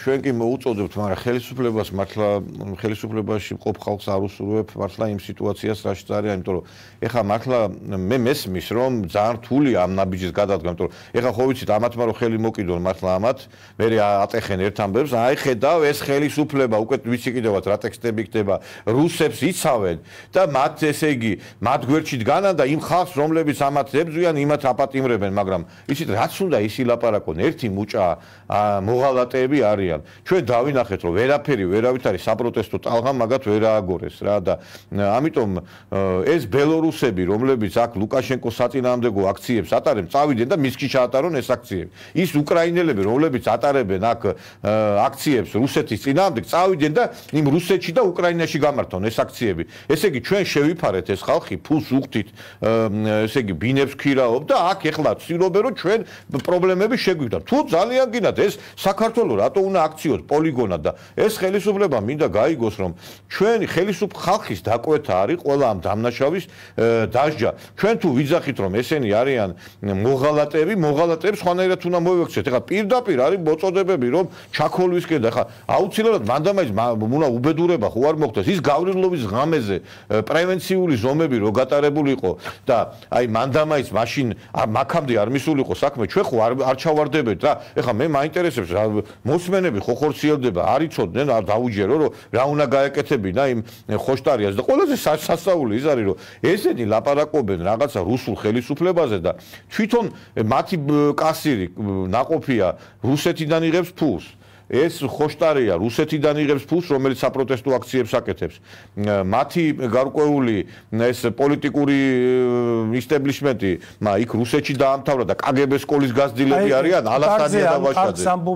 ჩვენ კი მოუწოდებთ, მაგრამ ხელისუფლებას მართლა ხელისუფლებაში მყოფ ხალხს არ უსურვებ მართლა იმ სიტუაციას რაშიც არის, იმიტომ რომ ეხლა მართლა მე მესმის რომ ძალიან რთულია ამ ნაბიჯის გადადგმა, იმიტომ რომ ეხლა ხო ვიცით ამათმა რომ ხელი მოკიდონ მართლა ამათ, მე ატეხენ ერთ ამბებს, აი ხედავ ეს ხელისუფლება უკვე ვიცი კიდევაც რა ტექსტები ხდება, რუსებს იცავენ და მათ ესე იგი მათ გვერდში დგანან და იმ ხალხს რომლებიც ამათ ებრძვიან, იმათ აპატიმრებენ, მაგრამ იცით რაც უნდა ის ილაპარაკონ, ერთი მუჭა მოღალატეები არიან. ჩვენ დავინახეთ რომ ვერაფერი ვერავით არის საპროტესტო ტალღა მაგათ ვერ ააგორეს რა და ამიტომ ეს ბელორუსები რომლებიც აქ ლუკაშენკოს საწინააღმდეგო აქციებს ატარებენ წავიდნენ და მისკი ჩაატარონ ეს აქციები ის უკრაინელები რომლებიც ატარებენ აქ აქციებს რუსეთის წინააღმდეგ წავიდნენ და იმ რუსეთში და უკრაინაში გამართონ ეს აქციები ესე იგი ჩვენ შევიფარეთ ეს ხალხი ფულს უხდით ესე იგი ბინებს ქირაობ და აქ ეხლა ცდილობენ რომ ჩვენ პრობლემები შეგვიგვდათ თუ ძალიან გინდათ ეს საქართველოს რატო უნდა აქციოს პოლიგონად და ეს ხელისუფლება მინდა გაიგოს რომ ჩვენი ხალხის დაკვეთა არის ყველა ამ დამნაშავის დასჯა ჩვენ თუ ვიძახით რომ ესენი არიან მოღალატეებს სხვანაირად უნდა მოვიქცეთ ეხლა პირდაპირ არის მოწოდებები რომ ჩაქოლვისკენ და ეხლა აუცილებლად მანდამაის უნდა უბედურება ხო არ მოხდეს ის გავრილობის ღამეზე პრევენციული ზომები რო გატარებული იყო და აი მანდამაის მაშინ მაქამდე არ მისულიყო საქმე ჩვენ ხო არ ჩავარდებეთ რა ეხლა მე მაინტერესებს რა მოსმენები ხო ხორციელდება არ იცოდნენ არ დაუჯერო რომ რა უნდა გაეკეთებინა იმ ხოშტარიას და ყველაზე სასწაული ის არის რომ ესენი ლაპარაკობენ რაღაცა რუსულ ხელისუფლებაზე და თვითონ მათი კასირი ნაყოფია რუსეთიდან იღებს ფულს ეს ხოშტარია რუსეთიდან იღებს ფულს რომელიც საპროტესტო აქციებს აკეთებს მათი გარკვეული ეს პოლიტიკური ისტაბლიშმენტი იქ რუსეთში დაამთავრა და კგბ სკოლის გაზრდილები არიან ალასტანია და ვაშაძე